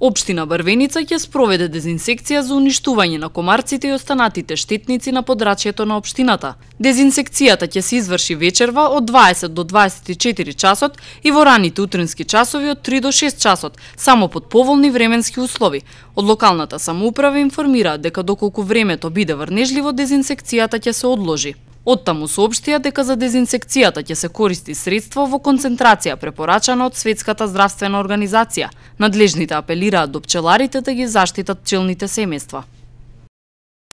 Општина Брвеница ќе спроведе дезинсекција за уништување на комарците и останатите штетници на подрачјето на општината. Дезинсекцијата ќе се изврши вечерва од 20 до 24 часот и во раните утрински часови од 3 до 6 часот, само под поволни временски услови. Од локалната самоуправа информираат дека доколку времето биде врнежливо, дезинсекцијата ќе се одложи. Оттаму соопштија дека за дезинсекцијата ќе се користи средство во концентрација препорачана од Светската здравствена организација. Надлежните апелираат до пчеларите да ги заштитат пчелните семејства.